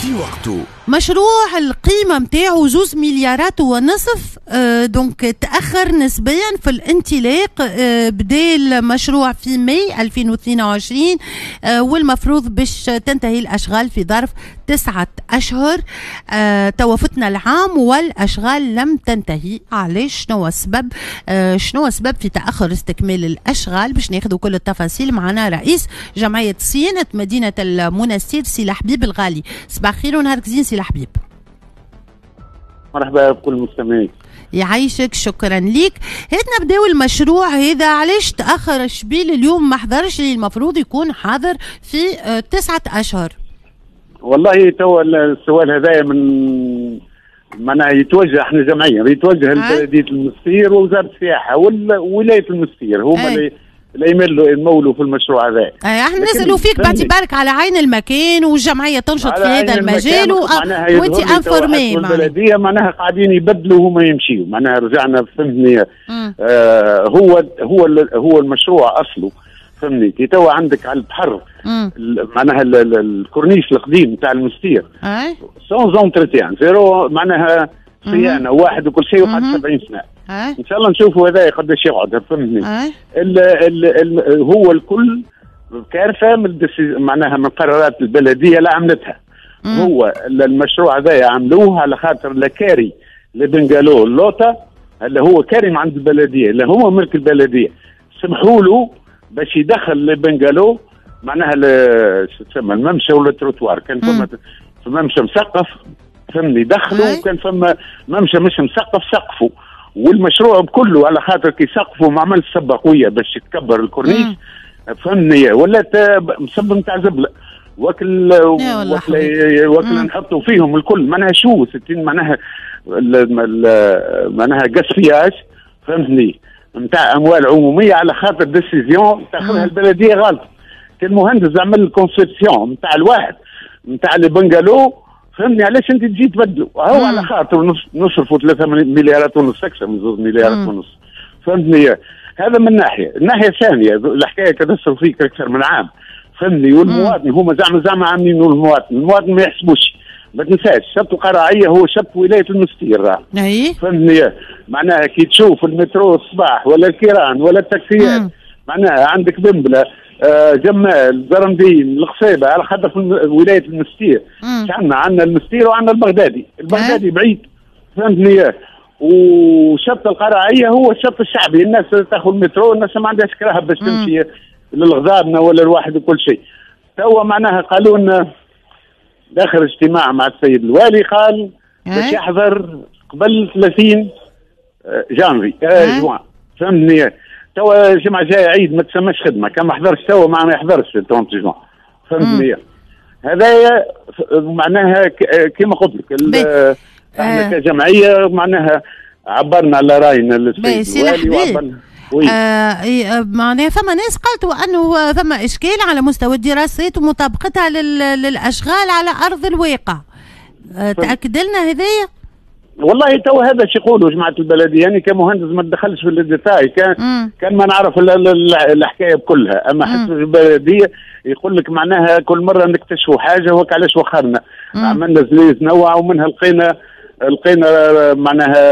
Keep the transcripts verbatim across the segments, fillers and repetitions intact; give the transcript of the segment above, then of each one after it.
في وقته. مشروع القيمة متاعه زوز مليارات ونصف، آه donc تأخر نسبيا في الانطلاق. آه بدا المشروع في ماي ألفين واثنين وعشرين، آه والمفروض باش تنتهي الأشغال في ظرف تسعة أشهر. آه توفتنا العام والأشغال لم تنتهي. علاش؟ شنو السبب؟ آه شنو السبب في تأخر استكمال الأشغال؟ باش ناخذ كل التفاصيل معنا رئيس جمعية صيانة مدينة المنستير سي الحبيب الغالي. صباح الخير ونهارك زين سي الحبيب. مرحبا بكل المستمعين. يعيشك، شكرا ليك. هات نبداو المشروع هذا، علاش تأخر الشبيل اليوم ما حضرش اللي المفروض يكون حاضر في تسعة أشهر؟ والله تو السؤال هذايا من معناها يتوجه، احنا جمعية يتوجه لبلديه المستير ووزارة السياحة وولاية المستير، هما اللي اللي يملوا يمولوا في المشروع هذا. احنا نسالوا فيك باعتبارك على عين المكان والجمعية تنشط في هذا المجال و... وانت informé. البلدية معناها قاعدين يبدلوا وهما يمشيوا، معناها رجعنا فهمتني. آه هو هو هو المشروع اصله فهمني كي توا عندك على البحر معناها الكورنيش القديم تاع المستير sans entretien zéro، معناها صيانة واحد وكل شيء وقعد سبعين سنة. ان شاء الله نشوفوا هذا قداش يقعد فهمتني. ال ال ال هو الكل كارثة من معناها من قرارات البلدية اللي عملتها. مم. هو المشروع هذا عملوه على خاطر لكاري les bungalows اللوطه اللي هو كاري عند البلدية، اللي هو ملك البلدية، سمحوا له باش يدخل les bungalows معناها شو تسمى الممشى ولا التروتوار. كان فما ممشى مسقف فهمني دخلوا، وكان فما ممشى مش مسقف سقفوا. والمشروع بكله على خاطر كي سقفوا ما عملش سبه قوية باش يتكبر الكورنيش فهمني، ولات مسبب نتاع زبله وكل وكل, وكل نحطوا فيهم الكل معناها شو ستين معناها معناها gaspillage فهمتني نتاع اموال عموميه على خاطر décision تاخذها البلدية غلط. المهندس عمل ال conception نتاع الواحد نتاع les bungalows فهمني، علاش انت تجي تبدلوا؟ هو على خاطر نصرفوا ثلاثة مليارات ونص اكثر من زوج مليارات ونص فهمتني. هذا من ناحية، الناحية الثانية الحكاية كتصرف فيك اكثر من عام فهمني، والمواطن هما زعما زعما عاملين المواطن، المواطن ما يحسبوش. ما تنساش شط القراعيه هو شط ولاية المستير راه فهمتني. معناها كي تشوف المترو الصباح ولا الكيران ولا التاكسيات معناها عندك بنبله آه جمال زرمدين القصيبه على خاطر في ولاية المستير عندنا عندنا المستير وعندنا البغدادي، البغدادي بعيد فهمتني. وشط القراعيه هو الشط الشعبي، الناس تاخذ المترو، الناس ما عندهاش كراهة باش تمشي للغزابنا ولا الواحد وكل شيء. توا معناها قالوا لنا داخل اجتماع مع السيد الوالي قال باش يحضر قبل ثلاثين جانفي آه جوان فهمتني. توا الجمعة الجاية عيد ما تسماش خدمة، كان ما حضرش توا ما يحضرش ثلاثين جوان فهمتني. هذايا معناها كما قلت لك احنا كجمعية معناها عبرنا على راينا للسيد الوالي وعبرنا. آه معناها فما ناس قالت انه فما اشكال على مستوى الدراسات ومطابقتها للاشغال على ارض الواقع. آه تاكد لنا هذايا؟ والله تو هذا شو يقولوا جماعة البلدية، يعني كمهندس ما تدخلش في ال détails، كان مم. كان ما نعرف الحكاية بكلها، اما حسب البلدية يقول لك معناها كل مرة نكتشفوا حاجة وك علاش وخرنا، عملنا زليز نوع ومنها لقينا لقينا معناها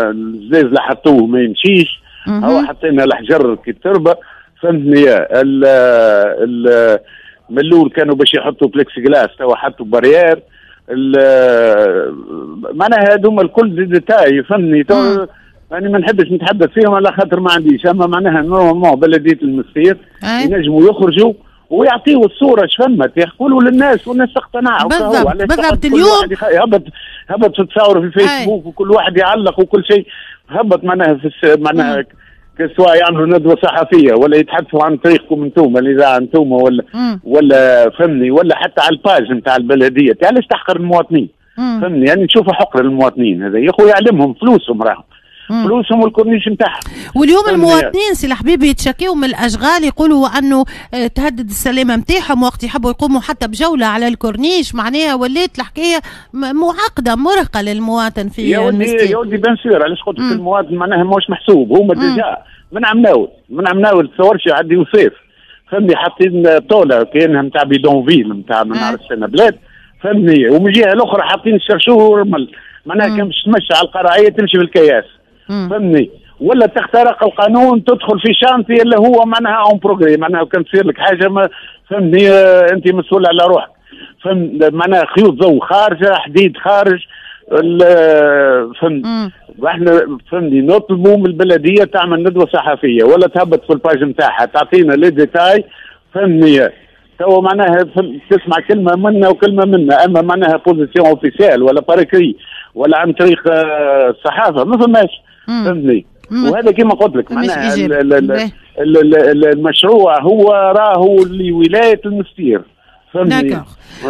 الزليز اللي حطوه ما يمشيش، هو حطينا الحجر كي التربة فهمتني. ال ال من الاول كانوا باش يحطوا بلكسيغلاس توا حطوا barrière، معناها هذوما الكل des détails فهمني. تو يعني ما نحبش نتحدث فيهم على خاطر ما عنديش، اما معناها normalement بلديه المستير ينجموا يخرجوا ويعطيوا الصورة اش فما، يقولوا للناس والناس تقتنع. بالضبط بالضبط. اليوم هبط هبط تصاور في الفيسبوك وكل واحد يعلق وكل شيء، هبط معناها في معناها سواء يعملوا ندوه صحفية ولا يتحدثوا عن طريقكم انتم الاذاعة انتم ولا مم. ولا فهمني، ولا حتى على ال page نتاع البلدية. علاش تحقر المواطنين؟ فهمني يعني نشوفوا حقر المواطنين هذا يا خويا، يعلمهم فلوسهم راهم فلوسهم والكورنيش نتاعهم. واليوم المواطنين سي الحبيب يتشكيوا من الاشغال، يقولوا انه تهدد السلامة نتاعهم وقت يحبوا يقوموا حتى بجولة على الكورنيش، معناها ولات الحكاية معقدة مرهقة للمواطن في يا ودي يا ودي bien sûr. علاش قلت لك المواطن معناها ماهوش محسوب، هما déjà من عمناول من عمناول تصورش يعدي وصيف فهمني، حاطين طوله كانها نتاع bidonville نتاع ما نعرفش انا بلاد فهمتني؟ ومن الجهة الاخرى حاطين الشرشور والرمل، معناها كان باش تمشي على القرعيه تمشي في الكياس، فهمتني؟ ولا تخترق القانون تدخل في chantier اللي هو معناها en progrès، معناها كان تصير لك حاجة ما فهمتني انت مسؤول على روحك، فهم معناها خيوط ضوء خارجه، حديد خارج، فهمت؟ احنا فهمني نطلبوا من البلدية تعمل ندوه صحفية ولا تهبط في ال page نتاعها تعطينا les détails، فهمني؟ تو معناها تسمع كلمة منا وكلمه منا، اما معناها position officielle ولا par écrit ولا عن طريق الصحافة ما فماش، فهمتني؟ وهذا كما قلت لك معناها المشروع هو راهو لولاية المستير. d'accord،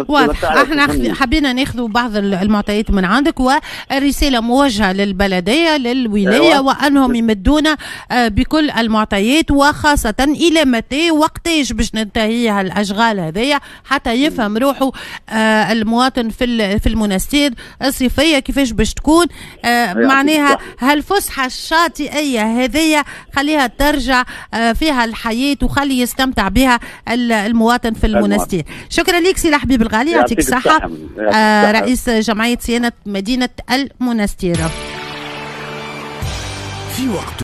واضح. احنا حبينا ناخذ بعض المعطيات من عندك، والرسالة موجهة للبلديه للولاية، أيوة. وانهم يمدونا بكل المعطيات، وخاصة الى متى وقتاش باش ننتهي الاشغال هذيا حتى يفهم روحه المواطن في في المنستير الصيفية كيفاش باش تكون، معناها هالفسحه الشاطئيه هذيا خليها ترجع فيها الحياة وخلي يستمتع بها المواطن في المنستير. شكرا لك سي الحبيب الغالي، يعطيك الصحة، آه رئيس جمعية صيانة مدينة المنستير. في وقت